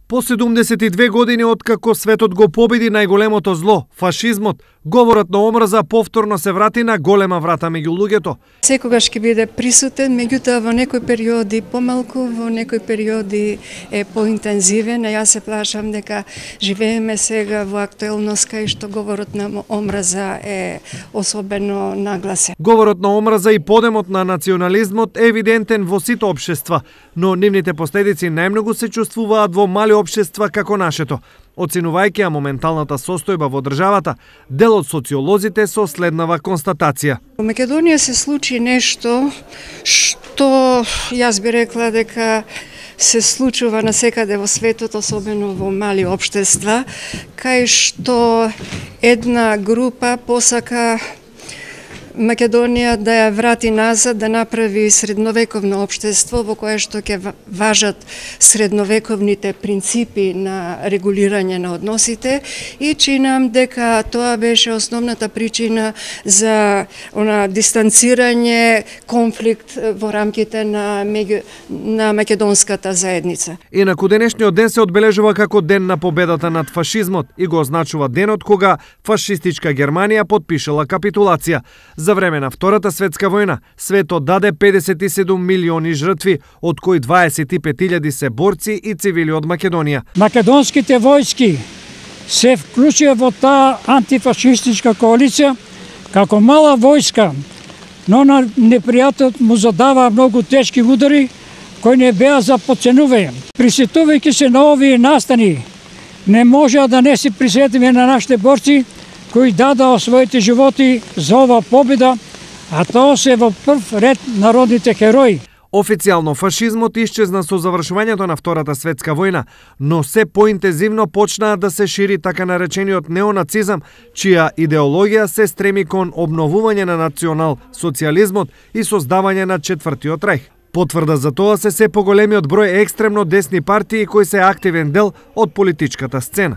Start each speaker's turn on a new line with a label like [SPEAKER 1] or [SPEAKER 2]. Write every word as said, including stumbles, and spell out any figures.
[SPEAKER 1] По седумдесет и две години откако светот го победи најголемото зло, фашизмот, говорот на омраза повторно се врати на голема врата меѓу луѓето.
[SPEAKER 2] Секогаш ќе биде присутен, меѓутоа во некои периоди помалку, во некои периоди е поинтензивен, а јас се плашам дека живееме сега во актуелност кај што говорот на омраза е особено нагласен.
[SPEAKER 1] Говорот на омраза и подемот на национализмот е евидентен во сите општества, но нивните последици најмногу се чувствуваат во мали општества како нашето. Оценувајќи ја моменталната состојба во државата, дел од социолозите со следнава констатација.
[SPEAKER 2] Во Македонија се случи нешто што јас би рекла дека се случува насекаде во светот, особено во мали општества, кај што една група посака Македонија да ја врати назад, да направи средновековно општество во кое што ќе важат средновековните принципи на регулирање на односите и чинам дека тоа беше основната причина за она дистанцирање, конфликт во рамките на меѓу на македонската заедница.
[SPEAKER 1] Инаку денешниот ден се одбележува како ден на победата над фашизмот и го означува денот кога фашистичка Германија потпишала капитулација. За време на Втората светска војна, светот даде педесет и седум милиони жртви, од кои дваесет и пет илјади се борци и цивили од Македонија.
[SPEAKER 3] Македонските војски се вклучија во таа антифашистичка коалиција како мала војска, но на непријателот му задава многу тешки удари кои не беа за подценување. Присетувајќи се на овие настани, не можеа да не се присетиме на нашите борци кои дадаа своите животи за ова победа, а тоа се во прв ред народните херои.
[SPEAKER 1] Официјално фашизмот исчезна со завршувањето на Втората светска војна, но се поинтензивно почнаа да се шири така наречениот неонацизам, чија идеологија се стреми кон обновување на национал-социјализмот и создавање на четвртиот рајх. Потврда за тоа се се поголемиот број екстремно десни партии кои се активен дел од политичката сцена.